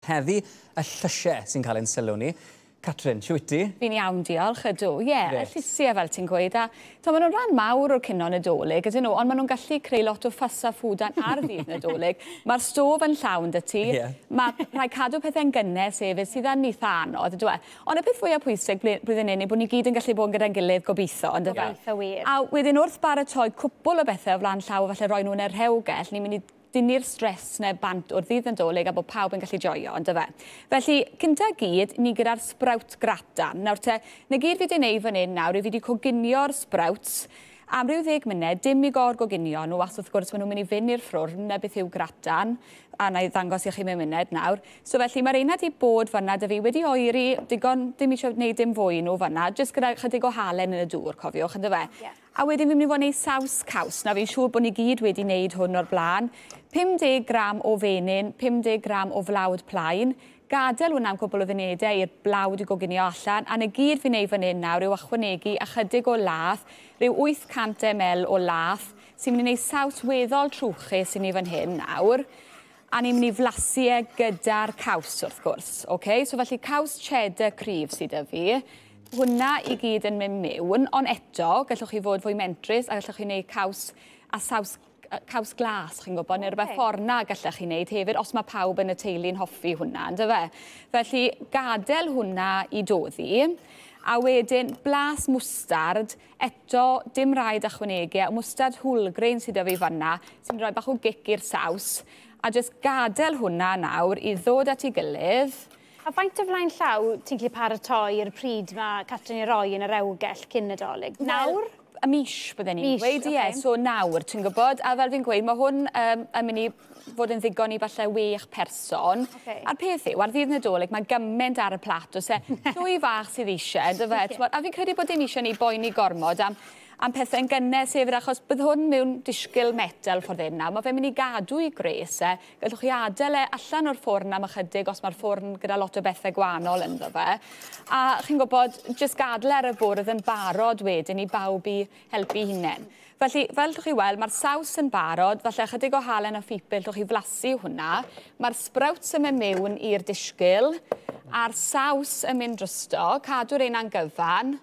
Heddi, y llysiau sy'n cael ein sylw ni. Catrin, siwt ti? Fi'n iawn, diolch, ydw. Ie, yeah, y llysiau fel ti'n gweud. A to, maen nhw'n rhan mawr o'r cino Nadolig, ydyn nhw, ond maen nhw'n gallu creu lot o ffys a ffwdan ar ddydd Nadolig. Mae'r stof yn llawn 'da ti. Yeah. Mae rhaid cadw pethau'n gynnes hefyd, sydd yn eitha anodd, ydw e. Ond y peth fwyaf pwysig blwyddyn hyn yw bod ni gyd yn gallu bod yn gyda'n gilydd, gobeithio, on'd yfe? Gobeithio wir. A wedyn wrth baratoi cwpwl o bethau o flaen llaw, falle roi nhw yn y rhewgell, ni'n mynd i dynnu'r stress 'na bant o'r ddydd Nadolig a bod pawb yn gallu joio, on'd yfe? Felly, cynta gyd, ni gyda'r sprout gratin. Nawr te, 'na gyd fi 'di wneud fan hyn nawr yw fi 'di coginio'r sprouts am ryw 10 munud, dim i gor-goginio nhw, achos wrth gwrs maen nhw'n mynd i fynd i'r ffwrn, 'na beth yw gratin, a na i ddangos i chi mewn munud nawr. So felly, mae'r reina 'di bod fan'na 'da fi, wedi oeri, digon, dim eisiau gwneud dim fwy nhw fan'na, jyst gyda chydig o halen yn y dŵr, cofiwch, on'd yfe? Yeah. A wedyn fi'n mynd i fod yn neud saws caws. Nawr fi'n siŵr bod ni gyd wedi wneud hwn o'r blaen. 50 gram o fenyn, 50 gram o flawd plaen. Gadael hwnna am cwpl o funudau i'r blawd i goginio allan. A 'na gyd fi'n neud fan hyn nawr yw ychwanegu ychydig o lath, rhyw 800 ml o lath, sy'n mynd i wneud saws weddol trwchus i ni fan hyn nawr. A ni'n mynd i flasu e gyda'r caws wrth gwrs. Okay? So felly caws cheddar cryf sydd 'da fi. Hwnna i gyd yn mynd mewn, ond eto, gallwch chi fod fwy mentrus a gallwch chi wneud caws a saws caws glas, chi'n gwybod, neu rhywbeth ffordd 'na gallech chi wneud hefyd, os mae pawb yn y teulu'n hoffi hwnna, on'd yfe? Felly, gadael hwnna i doddi, a wedyn blas mwstard, eto, dim rhaid ychwanegu, mwstard wholegrain sydd 'da fi fan'na, sy'n rhoi bach o gic i'r saws, a jyst gadael hwnna nawr i ddod at ei gilydd. A faint o flaen llaw ti'n gallu paratoi i'r pryd mae Catrin i roi yn y rewgell cyn Nadolig? Nawr? Y mis, bydden ni'n gweud, ie. So nawr, ti'n gwybod, a fel fi'n gweud, mae hwn yn mynd i fod yn ddigon i falle 6 person. Okay. A'r peth yw, ar ddydd Nadolig, mae gymaint ar y plat, oes e, llwy fach sydd eisiau, yndyfe? A fi'n credu bod dim eisiau ni boeni gormod am pethau'n gynnes hefyd, achos bydd hwn mewn disgyl metel ffordd hyn nawr. Mae fe'n mynd i gadw i gres e. Gallwch chi adael e allan o'r ffwrn am ychydig os mae'r ffwrn gyda lot o bethau gwahanol ynddo fe. A chi'n gwybod, jyst gadael ar y bwrdd yn barod wedyn i bawb i helpu hunain. Felly, fel llwch chi weld, mae'r saws yn barod, falle ychydig o halen a phupur llwch chi flasu hwnna. Mae'r sprouts yn mynd mewn i'r disgyl, a'r saws yn mynd drosto, cadw'r un a'n gyfan.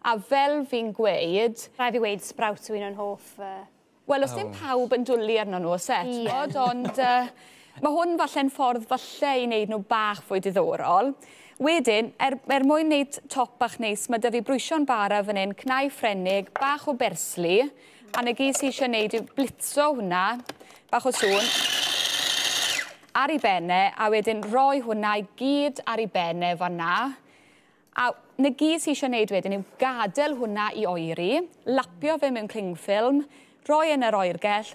A fel fi'n gweud... Rhaid fi weud sprouts yw un o'n hoff... Wel, os dim pawb yn dwlu arno nhw, oes e, t'mod, ond mae hwn falle'n ffordd falle i wneud nhw bach fwy diddorol. Wedyn, er mwyn wneud top bach neis, mae 'da fi brwysio'n bara fan hyn, cnau Ffrenig, bach o bersli, a 'na gyd sy eisiau wneud yw blitzo hwnna, bach o sŵn, ar ei benne, a wedyn roi hwnna i gyd ar ei benne fan'na. A 'na gyd sy eisiau wneud wedyn yw gadael hwnna i oeri, lapio fe mewn cling film, roi yn yr oergell,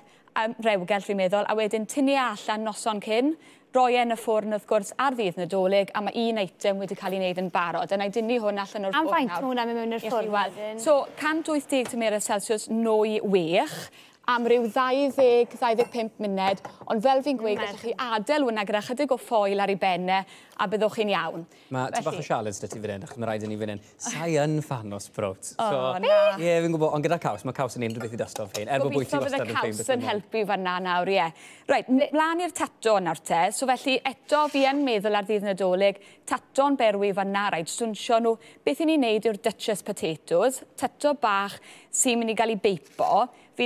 rewgell fi'n meddwl, a wedyn tynnu e allan noson cyn, roi e yn y ffwrn wrth gwrs ar ddydd Nadolig, a mae un eitem wedi cael ei wneud yn barod. A na i dynnu hwn allan o'r Am ffwrn faint nawr. ma' hwnna'n mynd mewn i'r I chi ffwrn weld. wedyn? So, 180 tymheredd Celsius nwy 6, am ryw 20-25 munud, ond fel fi'n gweud, gallwch chi adael hwnna gyda chydig o ffoil ar ei benne a byddwch chi'n iawn. Mae tipyn bach o Felly sialens 'da ti fan hyn, achos mae rhaid i ni fan hyn. Sa i yn fan o sprout. O, So, na. Ie, fi'n gwybod, ond gyda caws, mae caws yn unrhyw beth i dusto fe'n. Er bod bwyty Gobeithio bydd y wastad yn ffein caws beth yn bynnag. helpu fan'na nawr, ie. Reit, mlaen i'r tato nawr te. So felly, eto fi yn meddwl ar ddydd Nadolig, tato'n berwi fan'na, rhaid stwnsio nhw. Beth i ni'n neud yw'r Duchess potatoes, tato bach sy'n mynd i gael ei beipo. Fi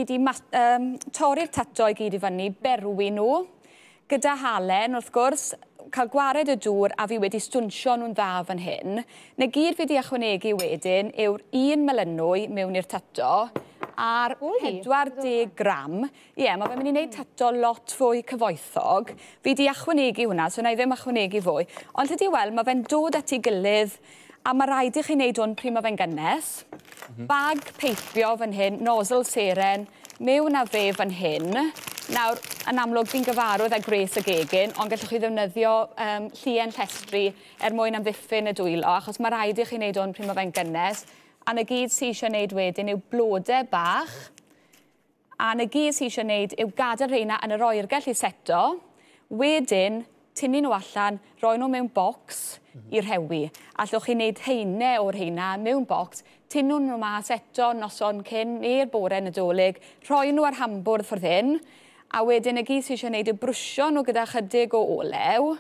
di torri'r tato i gyd i fyny, berwi nhw, gyda halen wrth gwrs, cael gwared y dŵr a fi wedi stwnsio nhw'n dda fan hyn. Na gyd fi di ychwanegu wedyn yw'r un melynwy mewn i'r tato a'r Wy. 40 gram. Ie, mae fe'n mynd i wneud tato lot fwy cyfoethog. Fi di ychwanegu hwnna, so na i ddim ychwanegu fwy. Ond tydi weld, mae fe'n dod at ei gilydd a mae rhaid i chi wneud hwn pryd mae fe'n gynnes. Bag peipio fan hyn, nozzle seren, mewn â fe fan hyn. Nawr, yn amlwg, fi'n gyfarwydd â gwres y gegin, ond gallwch chi ddefnyddio llien llestri er mwyn amddiffyn y dwylo, achos mae rhaid i chi wneud hwn pryd mae fe'n gynnes. A 'na gyd sy eisiau wneud wedyn yw blodau bach. A 'na gyd sy eisiau wneud yw gadael rheina yn yr oergell i seto. Wedyn, tynnu nhw allan, roi nhw mewn bocs i rhewi. Allwch chi wneud haenau o'r rheina mewn bocs, tynnu nhw mas eto noson cyn neu'r bore Nadolig, rhoi nhw ar hambwrdd ffordd hyn, a wedyn y gyd sy eisiau wneud yw brwsio nhw gyda chydig o olew,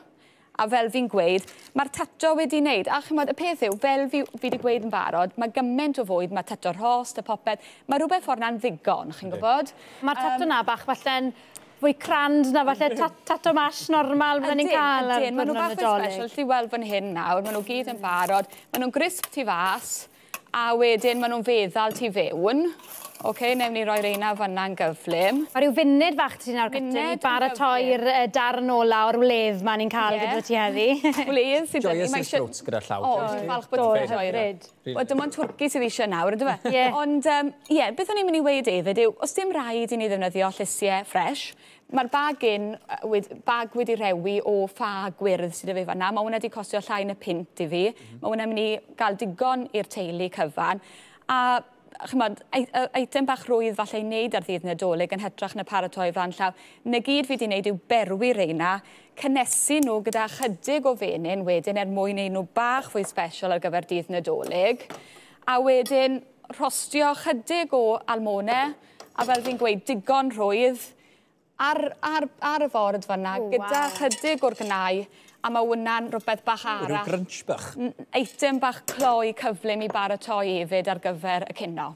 A fel fi'n gweud, mae'r tato wedi wneud. A chimod, y peth yw, fel fi wedi gweud yn barod, mae gymaint o fwyd, mae tato rhost a popeth. Mae rhywbeth ffordd na'n ddigon, chi'n gwybod? Mae'r tato na bach falle'n fwy crand na falle tato mash normal fydden ni'n cael ar Ydyn, maen nhw bach fwy special. Ti weld fan hyn nawr, maen nhw gyd yn barod. Maen nhw'n grisp tu fas, a wedyn maen nhw'n feddal tu fewn. OK, newn ni roi reina fanna'n gyflym. Mae rhyw funud fach ti nawr, Catrin, i baratoi'r darn ola o'r wledd ma ni'n cael gyda ti heddi. Wledd sydd... Joyous i'r sbrwts gyda llaw. O, falch bod ti'n joio. Wel, dim ond twrci sydd eisiau nawr, yndyfe? Ie. Ond, ie, beth o'n i'n mynd i weud hefyd yw, os dim rhaid i ni ddefnyddio llysiau ffres, mae'r bag wedi rewi o ffa gwyrdd sydd 'da fi fan'na. Mae hwnna wedi costio llai na punt i fi. Mae hwnna'n mynd i gael digon i'r teulu cyfan. A chimod, eitem bach rwydd falle i wneud ar ddydd Nadolig yn hytrach na paratoi flaen llaw. Na gyd fi wedi wneud yw berwi reina, cynnesu nhw gyda chydig o fenyn wedyn er mwyn neud nhw bach fwy special ar gyfer dydd Nadolig. A wedyn rhostio chydig o almone, a fel fi'n gweud, digon rhwydd ar y ford fan'na, gyda chydig o'r gnau, a mae hwnna'n rhywbeth bach arall. Rhyw grunch bach. Eitem bach cloi cyflym i baratoi hefyd ar gyfer y cinio.